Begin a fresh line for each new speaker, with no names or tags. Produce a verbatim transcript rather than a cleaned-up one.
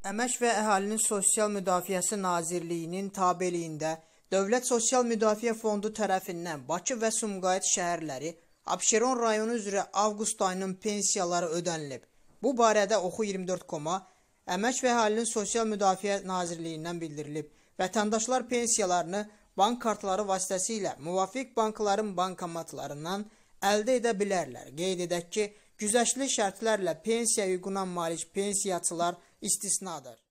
Əmək və Əhalinin Sosial Müdafiəsi Nazirliyinin tabeliyində Dövlət Sosial Müdafiə Fondu tərəfindən Bakı və Sumqayıt şəhərləri Abşeron rayonu üzrə avqust ayının pensiyaları ödənilib. Bu barədə Oxu iyirmi dörd koma Əmək və Əhalinin Sosial Müdafiə Nazirliyindən bildirilib. Vətəndaşlar pensiyalarını bank kartları vasitəsilə müvafiq bankların bankomatlarından əldə edə bilərlər. Qeyd edək ki, güzəştli şərtlərlə pensiya hüququna malik pensiyaçılar istisnadır.